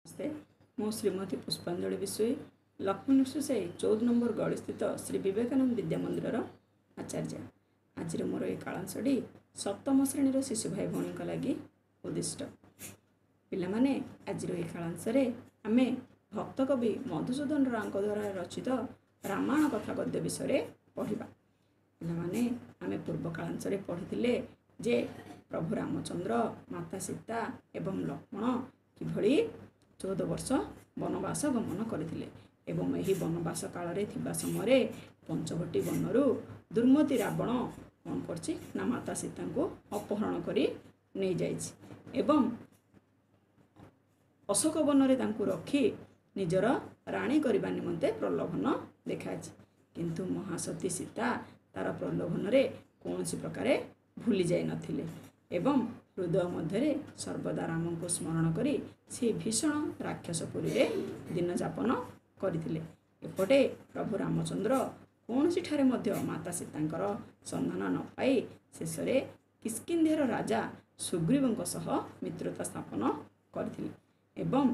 ନମସ୍ତେ, ମୁଁ ଶ୍ରୀମତୀ ପୁଷ୍ପାଞ୍ଜଳି ବିଷୋୟୀ, ଲକ୍ଷ୍ମୀ ନୃସିଂହ 14 ନମ୍ବର ଗଳିସ୍ଥିତ ଶ୍ରୀ ବିବେକାନନ୍ଦ ବିଦ୍ୟା ମନ୍ଦିରର ଆଚାର୍ଯ୍ୟ। ଆଜିର ମୋର ଏ କାଳାଂଶଟି ସପ୍ତମ ଶ୍ରେଣୀର ଶିଶୁ ଭାଇ ଭଉଣୀଙ୍କ ଲାଗି ଉଦ୍ଦିଷ୍ଟ। ପିଲାମାନେ, ଆଜିର ଏହି କାଳାଂଶରେ ଆମେ ଭକ୍ତକବି ମଧୁସୂଦନ ରାଓଙ୍କ ଦ୍ୱାରା ରଚିତ ରାମାୟଣ କଥା ଗଦ୍ୟ ବିଷୟରେ ପଢ଼ିବା। ପିଲାମାନେ, ଆମେ ପୂର୍ବ କାଳାଂଶରେ ପଢ଼ିଥିଲେ ଯେ ପ୍ରଭୁ ରାମଚନ୍ଦ୍ର, ମାତା ସୀତା ଏବଂ ଲକ୍ଷ୍ମଣ କିଭଳି 14 ବର୍ଷ ବନବାସ ଗମନ କରିଥିଲେ ଏବଂ ଏହି ବନବାସ କାଳରେ ଥିବା ସମୟରେ ପଞ୍ଚବଟୀ ବନରୁ ଦୁର୍ମତି ରାବଣ କ'ଣ କରିଛି ନା ମାତା ସୀତାଙ୍କୁ ଅପହରଣ କରି ନେଇଯାଇଛି ଏବଂ ଅଶୋକ ବନରେ ତାଙ୍କୁ ରଖି ନିଜର ରାଣୀ କରିବା ନିମନ୍ତେ ପ୍ରଲୋଭନ ଦେଖାଇଛି। କିନ୍ତୁ ମହାସତୀ ସୀତା ତାର ପ୍ରଲୋଭନରେ କୌଣସି ପ୍ରକାରେ ଭୁଲି ଯାଇନଥିଲେ ଏବଂ ହୃଦୟ ମଧ୍ୟରେ ସର୍ବଦା ରାମଙ୍କୁ ସ୍ମରଣ କରି ସେ ଭୀଷଣ ରାକ୍ଷସପୁରୀରେ ଦିନଯାପନ କରିଥିଲେ। ଏପଟେ ପ୍ରଭୁ ରାମଚନ୍ଦ୍ର କୌଣସିଠାରେ ମଧ୍ୟ ମାତା ସୀତାଙ୍କର ସନ୍ଧାନ ନ ପାଇ ଶେଷରେ କିଷ୍କିନ୍ଧ୍ୟାର ରାଜା ସୁଗ୍ରୀବଙ୍କ ସହ ମିତ୍ରତା ସ୍ଥାପନ କରିଥିଲେ ଏବଂ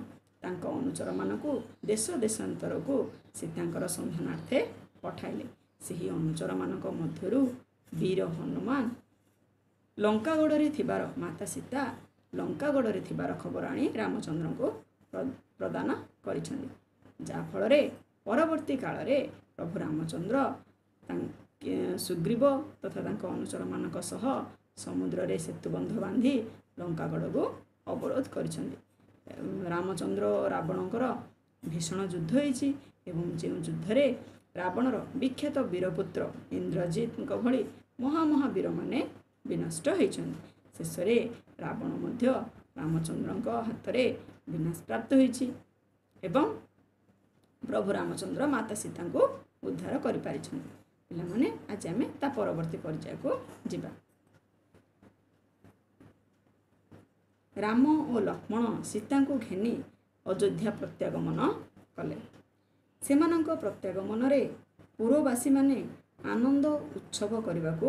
ତାଙ୍କ ଅନୁଚରମାନଙ୍କୁ ଦେଶ ଦେଶାନ୍ତରକୁ ସୀତାଙ୍କର ସନ୍ଧାନାର୍ଥେ ପଠାଇଲେ। ସେହି ଅନୁଚରମାନଙ୍କ ମଧ୍ୟରୁ ବୀର ହନୁମାନ ଲଙ୍କାଗଡ଼ରେ ଥିବାର, ମାତା ସୀତା ଲଙ୍କାଗଡ଼ରେ ଥିବାର ଖବର ଆଣି ରାମଚନ୍ଦ୍ରଙ୍କୁ ପ୍ରଦାନ କରିଛନ୍ତି, ଯାହାଫଳରେ ପରବର୍ତ୍ତୀ କାଳରେ ପ୍ରଭୁ ରାମଚନ୍ଦ୍ର ସୁଗ୍ରୀବ ତଥା ତାଙ୍କ ଅନୁଚରମାନଙ୍କ ସହ ସମୁଦ୍ରରେ ସେତୁବନ୍ଧ ବାନ୍ଧି ଲଙ୍କାଗଡ଼କୁ ଅବରୋଧ କରିଛନ୍ତି। ରାମଚନ୍ଦ୍ର ରାବଣଙ୍କର ଭୀଷଣ ଯୁଦ୍ଧ ହେଇଛି ଏବଂ ଯେଉଁ ଯୁଦ୍ଧରେ ରାବଣର ବିଖ୍ୟାତ ବୀରପୁତ୍ର ଇନ୍ଦ୍ରଜିତଙ୍କ ଭଳି ମହାମହାବୀରମାନେ ବିନଷ୍ଟ ହୋଇଛନ୍ତି। ଶେଷରେ ରାବଣ ମଧ୍ୟ ରାମଚନ୍ଦ୍ରଙ୍କ ହାତରେ ବିନାଶ ପ୍ରାପ୍ତ ହୋଇଛି ଏବଂ ପ୍ରଭୁ ରାମଚନ୍ଦ୍ର ମାତା ସୀତାଙ୍କୁ ଉଦ୍ଧାର କରିପାରିଛନ୍ତି। ପିଲାମାନେ, ଆଜି ଆମେ ତା ପରବର୍ତ୍ତୀ ପର୍ଯ୍ୟାୟକୁ ଯିବା। ରାମ ଓ ଲକ୍ଷ୍ମଣ ସୀତାଙ୍କୁ ଘେନି ଅଯୋଧ୍ୟା ପ୍ରତ୍ୟାଗମନ କଲେ। ସେମାନଙ୍କ ପ୍ରତ୍ୟାଗମନରେ ପୁରବାସୀମାନେ ଆନନ୍ଦ ଉତ୍ସବ କରିବାକୁ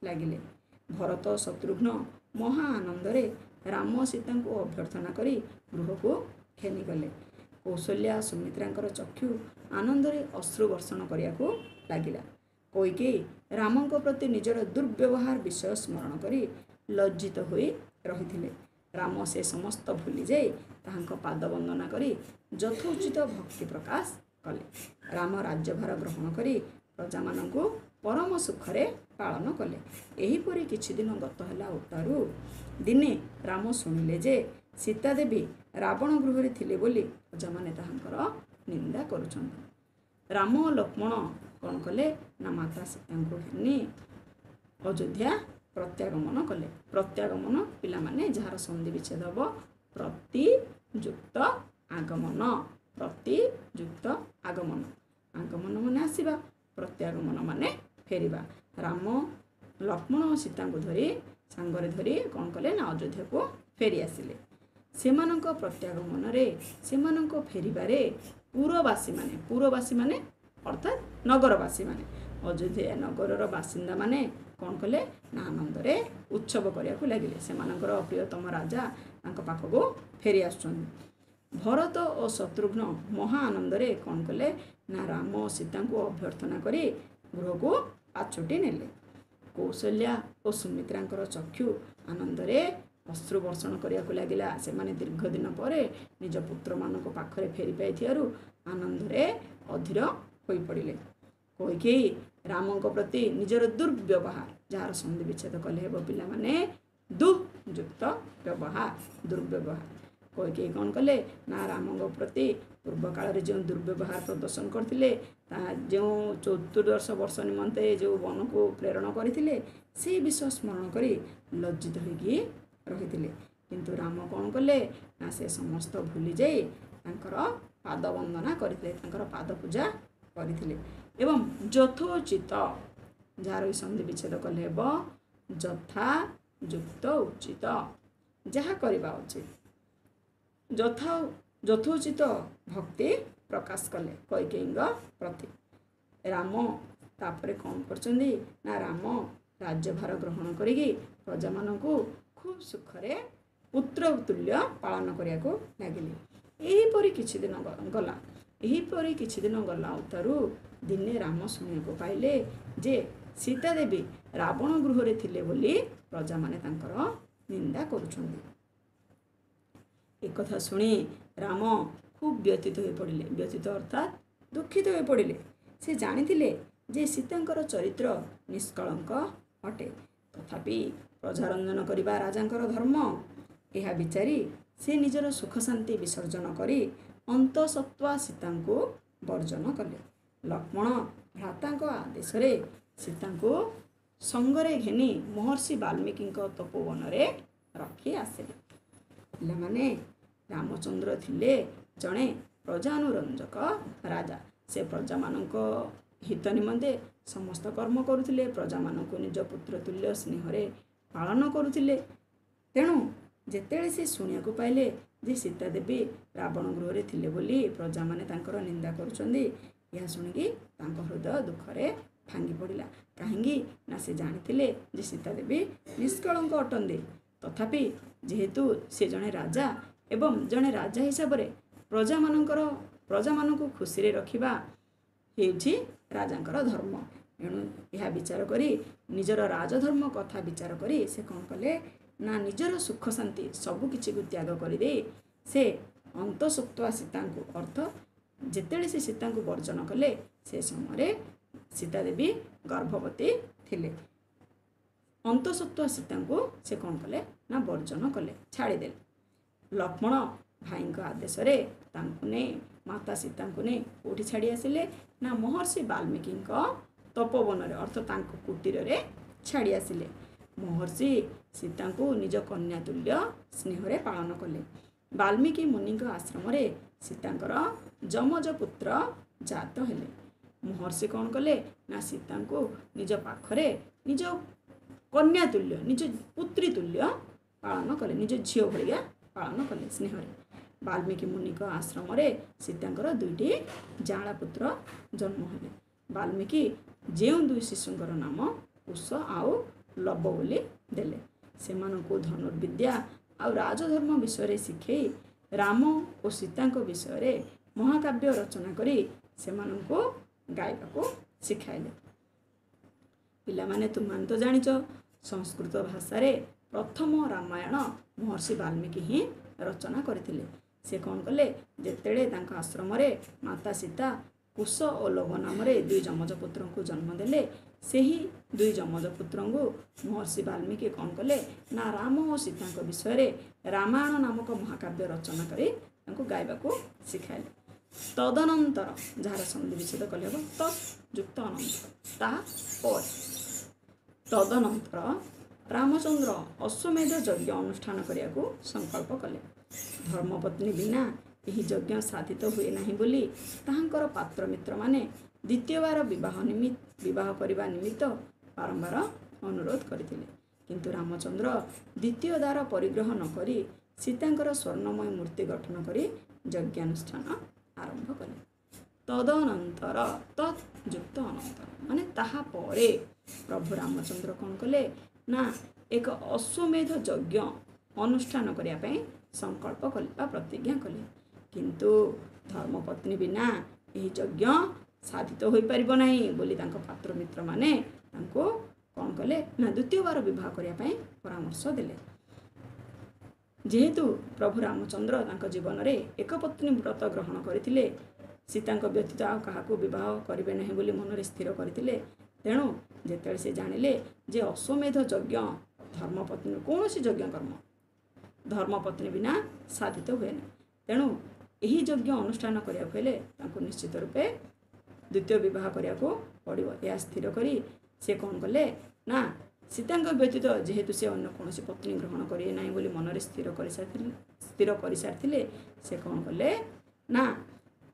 ଲାଗିଲେ। ଭରତ ଶତ୍ରୁଘ୍ନ ମହା ଆନନ୍ଦରେ ରାମ ସୀତାଙ୍କୁ ଅଭ୍ୟର୍ଥନା କରି ଗୃହକୁ ଘେନିଗଲେ। କୌଶଲ୍ୟା ସୁମିତ୍ରାଙ୍କର ଚକ୍ଷୁ ଆନନ୍ଦରେ ଅଶ୍ରୁ ବର୍ଷଣ କରିବାକୁ ଲାଗିଲା। କୈକେୟୀ ରାମଙ୍କ ପ୍ରତି ନିଜର ଦୁର୍ବ୍ୟବହାର ବିଷୟ ସ୍ମରଣ କରି ଲଜ୍ଜିତ ହୋଇ ରହିଥିଲେ। ରାମ ସେ ସମସ୍ତ ଭୁଲିଯାଇ ତାହାଙ୍କ ପାଦ ବନ୍ଦନା କରି ଯଥୋଚିତ ଭକ୍ତି ପ୍ରକାଶ କଲେ। ରାମ ରାଜ୍ୟଭାର ଗ୍ରହଣ କରି ପ୍ରଜାମାନଙ୍କୁ ପରମ ସୁଖରେ ପାଳନ କଲେ। ଏହିପରି କିଛି ଦିନ ଗତ ହେଲା ଉତ୍ତାରୁ ଦିନେ ରାମ ଶୁଣିଲେ ଯେ ସୀତା ଦେବୀ ରାବଣ ଗୃହରେ ଥିଲେ ବୋଲି ପ୍ରଜାମାନେ ତାହାଙ୍କର ନିନ୍ଦା କରୁଛନ୍ତି। ରାମ ଓ ଲକ୍ଷ୍ମଣ କ'ଣ କଲେ ନା ମାତା ସୀତାଙ୍କୁ ଘେନି ଅଯୋଧ୍ୟା ପ୍ରତ୍ୟାଗମନ କଲେ। ପ୍ରତ୍ୟାଗମନ ପିଲାମାନେ, ଯାହାର ସନ୍ଧି ବିଚ୍ଛେଦ ହେବ ପ୍ରତିଯୁକ୍ତ ଆଗମନ। ପ୍ରତିଯୁକ୍ତ ଆଗମନ, ଆଗମନ ମାନେ ଆସିବା, ପ୍ରତ୍ୟାଗମନ ମାନେ ଫେରିବା। ରାମ ଲକ୍ଷ୍ମଣ ଓ ସୀତାଙ୍କୁ ଧରି ସାଙ୍ଗରେ ଧରି କ'ଣ କଲେ ନା ଅଯୋଧ୍ୟାକୁ ଫେରି ଆସିଲେ। ସେମାନଙ୍କ ପ୍ରତ୍ୟାଗମନରେ, ସେମାନଙ୍କ ଫେରିବାରେ ପୁରବାସୀମାନେ, ପୁରବାସୀମାନେ ଅର୍ଥାତ୍ ନଗରବାସୀମାନେ, ଅଯୋଧ୍ୟା ନଗରର ବାସିନ୍ଦାମାନେ କ'ଣ କଲେ ନା ଆନନ୍ଦରେ ଉତ୍ସବ କରିବାକୁ ଲାଗିଲେ। ସେମାନଙ୍କର ପ୍ରିୟତମ ରାଜା ତାଙ୍କ ପାଖକୁ ଫେରି ଆସୁଛନ୍ତି। ଭରତ ଓ ଶତ୍ରୁଘ୍ନ ମହା ଆନନ୍ଦରେ କ'ଣ କଲେ ନା ରାମ ଓ ସୀତାଙ୍କୁ ଅଭ୍ୟର୍ଥନା କରି ଗୃହକୁ ପାଛୋଟି ନେଲେ। କୌଶଲ୍ୟା ଓ ସୁମିତ୍ରାଙ୍କର ଚକ୍ଷୁ ଆନନ୍ଦରେ ଅଶ୍ରୁ ବର୍ଷଣ କରିବାକୁ ଲାଗିଲା। ସେମାନେ ଦୀର୍ଘ ଦିନ ପରେ ନିଜ ପୁତ୍ରମାନଙ୍କ ପାଖରେ ଫେରି ପାଇଥିବାରୁ ଆନନ୍ଦରେ ଅଧୀର ହୋଇପଡ଼ିଲେ। କୈକେୟୀ ରାମଙ୍କ ପ୍ରତି ନିଜର ଦୁର୍ବ୍ୟବହାର, ଯାହାର ସନ୍ଧି ବିଚ୍ଛେଦ କଲେ ହେବ ପିଲାମାନେ ଦୁଃଯୁକ୍ତ ବ୍ୟବହାର, ଦୁର୍ବ୍ୟବହାର। କୈକେୟୀ କ'ଣ କଲେ ନା ରାମଙ୍କ ପ୍ରତି ପୂର୍ବ କାଳରେ ଯେଉଁ ଦୁର୍ବ୍ୟବହାର ପ୍ରଦର୍ଶନ କରିଥିଲେ, ତାହା ଯେଉଁ 14 ବର୍ଷ ନିମନ୍ତେ ଯେଉଁ ବନକୁ ପ୍ରେରଣ କରିଥିଲେ, ସେଇ ବିଷୟ ସ୍ମରଣ କରି ଲଜ୍ଜିତ ହୋଇକି ରହିଥିଲେ। କିନ୍ତୁ ରାମ କ'ଣ କଲେ ନା ସେ ସମସ୍ତ ଭୁଲି ଯାଇ ତାଙ୍କର ପାଦ ବନ୍ଦନା କରିଥିଲେ, ତାଙ୍କର ପାଦ ପୂଜା କରିଥିଲେ ଏବଂ ଯଥୋଚିତ, ଯାହାର ସନ୍ଧି ବିଚ୍ଛେଦ କଲେ ହେବ ଯଥା ଯୁକ୍ତ ଉଚିତ, ଯାହା କରିବା ଉଚିତ, ଯଥା ଯଥୋଚିତ ଭକ୍ତି ପ୍ରକାଶ କଲେ କୈକେୟୀଙ୍କ ପ୍ରତି। ରାମ ତାପରେ କ'ଣ କରିଛନ୍ତି ନା ରାମ ରାଜ୍ୟଭାର ଗ୍ରହଣ କରିକି ପ୍ରଜାମାନଙ୍କୁ ଖୁବ୍ ସୁଖରେ ପୁତ୍ର ତୁଲ୍ୟ ପାଳନ କରିବାକୁ ଲାଗିଲେ। ଏହିପରି କିଛି ଦିନ ଗଲା। ଏହିପରି କିଛି ଦିନ ଗଲା ଉତ୍ତାରୁ ଦିନେ ରାମ ଶୁଣିବାକୁ ପାଇଲେ ଯେ ସୀତା ଦେବୀ ରାବଣ ଗୃହରେ ଥିଲେ ବୋଲି ପ୍ରଜାମାନେ ତାଙ୍କର ନିନ୍ଦା କରୁଛନ୍ତି। ଏକଥା ଶୁଣି ରାମ ଖୁବ୍ ବ୍ୟଥିତ ହୋଇପଡ଼ିଲେ। ବ୍ୟଥିତ ଅର୍ଥାତ୍ ଦୁଃଖିତ ହୋଇପଡ଼ିଲେ। ସେ ଜାଣିଥିଲେ ଯେ ସୀତାଙ୍କର ଚରିତ୍ର ନିଷ୍କଳଙ୍କ ଅଟେ, ତଥାପି ପ୍ରଜାରଞ୍ଜନ କରିବା ରାଜାଙ୍କର ଧର୍ମ। ଏହା ବିଚାରି ସେ ନିଜର ସୁଖ ଶାନ୍ତି ବିସର୍ଜନ କରି ଅନ୍ତଃସତ୍ତ୍ୱା ସୀତାଙ୍କୁ ବର୍ଜନ କଲେ। ଲକ୍ଷ୍ମଣ ଭ୍ରାତାଙ୍କ ଆଦେଶରେ ସୀତାଙ୍କୁ ସଙ୍ଗରେ ଘେନି ମହର୍ଷି ବାଲ୍ମୀକିଙ୍କ ତପୋବନରେ ରଖି ଆସିଲେ। ପିଲାମାନେ, ରାମଚନ୍ଦ୍ର ଥିଲେ ଜଣେ ପ୍ରଜାନୁରଞ୍ଜକ ରାଜା। ସେ ପ୍ରଜାମାନଙ୍କ ହିତ ନିମନ୍ତେ ସମସ୍ତ କର୍ମ କରୁଥିଲେ। ପ୍ରଜାମାନଙ୍କୁ ନିଜ ପୁତ୍ର ତୁଲ୍ୟ ସ୍ନେହରେ ପାଳନ କରୁଥିଲେ। ତେଣୁ ଯେତେବେଳେ ସେ ଶୁଣିବାକୁ ପାଇଲେ ଯେ ସୀତା ଦେବୀ ରାବଣ ଗୃହରେ ଥିଲେ ବୋଲି ପ୍ରଜାମାନେ ତାଙ୍କର ନିନ୍ଦା କରୁଛନ୍ତି, ଏହା ଶୁଣିକି ତାଙ୍କ ହୃଦୟ ଦୁଃଖରେ ଭାଙ୍ଗି ପଡ଼ିଲା। କାହିଁକି ନା ସେ ଜାଣିଥିଲେ ଯେ ସୀତା ଦେବୀ ନିଷ୍କଳଙ୍କ ଅଟନ୍ତି, ତଥାପି ଯେହେତୁ ସେ ଜଣେ ରାଜା ଏବଂ ଜଣେ ରାଜା ହିସାବରେ ପ୍ରଜାମାନଙ୍କୁ ଖୁସିରେ ରଖିବା ହେଉଛି ରାଜାଙ୍କର ଧର୍ମ। ଏଣୁ ଏହା ବିଚାର କରି, ନିଜର ରାଜଧର୍ମ କଥା ବିଚାର କରି ସେ କ'ଣ କଲେ ନା ନିଜର ସୁଖ ଶାନ୍ତି ସବୁ କିଛିକୁ ତ୍ୟାଗ କରିଦେଇ ସେ ଅନ୍ତଃସତ୍ତ୍ୱା ସୀତାଙ୍କୁ, ଅର୍ଥ ଯେତେବେଳେ ସେ ସୀତାଙ୍କୁ ବର୍ଜନ କଲେ ସେ ସମୟରେ ସୀତା ଦେବୀ ଗର୍ଭବତୀ ଥିଲେ। ଅନ୍ତଃସତ୍ତ୍ୱା ସୀତାଙ୍କୁ ସେ କ'ଣ କଲେ ନା ବର୍ଜନ କଲେ, ଛାଡ଼ିଦେଲେ। ଲକ୍ଷ୍ମଣ ଭାଇଙ୍କ ଆଦେଶରେ ତାଙ୍କୁ ନେଇ, ମାତା ସୀତାଙ୍କୁ ନେଇ କେଉଁଠି ଛାଡ଼ି ଆସିଲେ ନା ମହର୍ଷି ବାଲ୍ମୀକିଙ୍କ ତପୋବନରେ, ଅର୍ଥ ତାଙ୍କ କୁଟୀରରେ ଛାଡ଼ି ଆସିଲେ। ମହର୍ଷି ସୀତାଙ୍କୁ ନିଜ କନ୍ୟା ତୁଲ୍ୟ ସ୍ନେହରେ ପାଳନ କଲେ। ବାଲ୍ମୀକି ମୁନିଙ୍କ ଆଶ୍ରମରେ ସୀତାଙ୍କର ଯମଜ ପୁତ୍ର ଜାତ ହେଲେ। ମହର୍ଷି କ'ଣ କଲେ ନା ସୀତାଙ୍କୁ ନିଜ ପାଖରେ ନିଜ କନ୍ୟା ତୁଲ୍ୟ, ନିଜ ପୁତ୍ରୀ ତୁଲ୍ୟ ପାଳନ କଲେ, ନିଜ ଝିଅ ଭଳିଆ ପାଳନ କଲେ ସ୍ନେହରେ। ବାଲ୍ମୀକି ମୁନିଙ୍କ ଆଶ୍ରମରେ ସୀତାଙ୍କର 2ଟି ଯାଆଁଳା ପୁତ୍ର ଜନ୍ମ ହେଲେ। ବାଲ୍ମୀକି ଯେଉଁ 2 ଶିଶୁଙ୍କର ନାମ କୁଶ ଆଉ ଲବ ବୋଲି ଦେଲେ। ସେମାନଙ୍କୁ ଧନୁର୍ବିଦ୍ୟା ଆଉ ରାଜଧର୍ମ ବିଷୟରେ ଶିଖେଇ ରାମ ଓ ସୀତାଙ୍କ ବିଷୟରେ ମହାକାବ୍ୟ ରଚନା କରି ସେମାନଙ୍କୁ ଗାଇବାକୁ ଶିଖାଇଲେ। ପିଲାମାନେ, ତୁମମାନେ ତ ଜାଣିଛ ସଂସ୍କୃତ ଭାଷାରେ ପ୍ରଥମ ରାମାୟଣ ମହର୍ଷି ବାଲ୍ମୀକି ହିଁ ରଚନା କରିଥିଲେ। ସେ କ'ଣ କଲେ, ଯେତେବେଳେ ତାଙ୍କ ଆଶ୍ରମରେ ମାତା ସୀତା କୁଶ ଓ ଲବ ନାମରେ 2 ଯମଜ ପୁତ୍ରଙ୍କୁ ଜନ୍ମ ଦେଲେ, ସେହି 2 ଯମଜ ପୁତ୍ରଙ୍କୁ ମହର୍ଷି ବାଲ୍ମୀକି କ'ଣ କଲେ ନା ରାମ ଓ ସୀତାଙ୍କ ବିଷୟରେ ରାମାୟଣ ନାମକ ମହାକାବ୍ୟ ରଚନା କରି ତାଙ୍କୁ ଗାଇବାକୁ ଶିଖାଇଲେ। ତଦନନ୍ତର, ଯାହାର ସନ୍ଧି ବିଚ୍ଛେଦ କଲେ ହେବ ତତ୍ ଯୁକ୍ତ ଅନନ୍ତର, ତାପରେ ତଦନନ୍ତର ରାମଚନ୍ଦ୍ର ଅଶ୍ୱମେଧ ଯଜ୍ଞ ଅନୁଷ୍ଠାନ କରିବାକୁ ସଂକଳ୍ପ କଲେ। ଧର୍ମପତ୍ନୀ ବିନା ଏହି ଯଜ୍ଞ ସାଧିତ ହୁଏ ନାହିଁ ବୋଲି ତାହାଙ୍କର ପାତ୍ର ମିତ୍ରମାନେ ଦ୍ୱିତୀୟବାର ବିବାହ କରିବା ନିମିତ୍ତ ବାରମ୍ବାର ଅନୁରୋଧ କରିଥିଲେ। କିନ୍ତୁ ରାମଚନ୍ଦ୍ର ଦ୍ୱିତୀୟ ଦ୍ୱାର ପରିଗ୍ରହ ନ କରି ସୀତାଙ୍କର ସ୍ୱର୍ଣ୍ଣମୟ ମୂର୍ତ୍ତି ଗଠନ କରି ଯଜ୍ଞାନୁଷ୍ଠାନ ଆରମ୍ଭ କଲେ। ତଦନନ୍ତର, ତତ୍ ଯୁକ୍ତ ଅନନ୍ତର ମାନେ ତାହା ପରେ ପ୍ରଭୁ ରାମଚନ୍ଦ୍ର କ'ଣ କଲେ ନା ଏକ ଅଶ୍ୱମେଧ ଯଜ୍ଞ ଅନୁଷ୍ଠାନ କରିବା ପାଇଁ ସଂକଳ୍ପ କଲେ ବା ପ୍ରତିଜ୍ଞା କଲେ। କିନ୍ତୁ ଧର୍ମପତ୍ନୀ ବିନା ଏହି ଯଜ୍ଞ ସାଧିତ ହୋଇପାରିବ ନାହିଁ ବୋଲି ତାଙ୍କ ପାତ୍ର ମିତ୍ରମାନେ ତାଙ୍କୁ କ'ଣ କଲେ ନା ଦ୍ୱିତୀୟବାର ବିବାହ କରିବା ପାଇଁ ପରାମର୍ଶ ଦେଲେ। ଯେହେତୁ ପ୍ରଭୁ ରାମଚନ୍ଦ୍ର ତାଙ୍କ ଜୀବନରେ ଏକପତ୍ନୀ ବ୍ରତ ଗ୍ରହଣ କରିଥିଲେ, ସୀତାଙ୍କ ବ୍ୟତୀତ ଆଉ କାହାକୁ ବିବାହ କରିବେ ନାହିଁ ବୋଲି ମନରେ ସ୍ଥିର କରିଥିଲେ, ତେଣୁ ଯେତେବେଳେ ସେ ଜାଣିଲେ ଯେ ଅଶ୍ୱମେଧ ଯଜ୍ଞ ଧର୍ମପତ୍ନୀ କୌଣସି ଯଜ୍ଞ କର୍ମ ଧର୍ମପତ୍ନୀ ବିନା ସାଧିତ ହୁଏନି, ତେଣୁ ଏହି ଯଜ୍ଞ ଅନୁଷ୍ଠାନ କରିବାକୁ ହେଲେ ତାଙ୍କୁ ନିଶ୍ଚିତ ରୂପେ ଦ୍ୱିତୀୟ ବିବାହ କରିବାକୁ ପଡ଼ିବ। ଏହା ସ୍ଥିର କରି ସେ କ'ଣ କଲେ ନା ସୀତାଙ୍କ ବ୍ୟତୀତ ଯେହେତୁ ସେ ଅନ୍ୟ କୌଣସି ପତ୍ନୀ ଗ୍ରହଣ କରିବେ ନାହିଁ ବୋଲି ମନରେ ସ୍ଥିର କରିସାରିଥିଲେ, ସେ କ'ଣ କଲେ ନା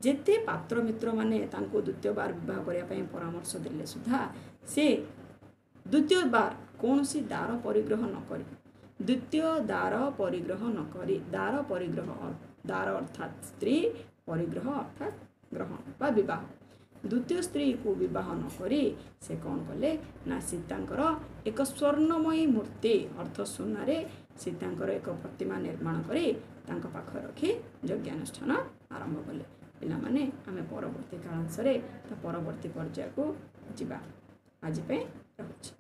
ଯେତେ ପାତ୍ର ମିତ୍ରମାନେ ତାଙ୍କୁ ଦ୍ୱିତୀୟବାର ବିବାହ କରିବା ପାଇଁ ପରାମର୍ଶ ଦେଲେ ସୁଦ୍ଧା ସେ ଦ୍ୱିତୀୟବାର କୌଣସି ଦାର ପରିଗ୍ରହ ନ କରି, ଦ୍ୱିତୀୟ ଦାର ପରିଗ୍ରହ ନ କରି, ଦାର ପରିଗ୍ରହ, ଦାର ଅର୍ଥାତ୍ ସ୍ତ୍ରୀ, ପରିଗ୍ରହ ଅର୍ଥାତ୍ ଗ୍ରହଣ ବା ବିବାହ, ଦ୍ୱିତୀୟ ସ୍ତ୍ରୀକୁ ବିବାହ ନ କରି ସେ କ'ଣ କଲେ ନା ସୀତାଙ୍କର ଏକ ସ୍ୱର୍ଣ୍ଣମୟୀ ମୂର୍ତ୍ତି ଅର୍ଥ ସୁନାରେ ସୀତାଙ୍କର ଏକ ପ୍ରତିମା ନିର୍ମାଣ କରି ତାଙ୍କ ପାଖରେ ରଖି ଯଜ୍ଞାନୁଷ୍ଠାନ ଆରମ୍ଭ କଲେ। ପିଲାମାନେ, ଆମେ ପରବର୍ତ୍ତୀ କାଳାଂଶରେ ତା ପରବର୍ତ୍ତୀ ପର୍ଯ୍ୟାୟକୁ ଯିବା। ଆଜି ପାଇଁ ରହୁଛି।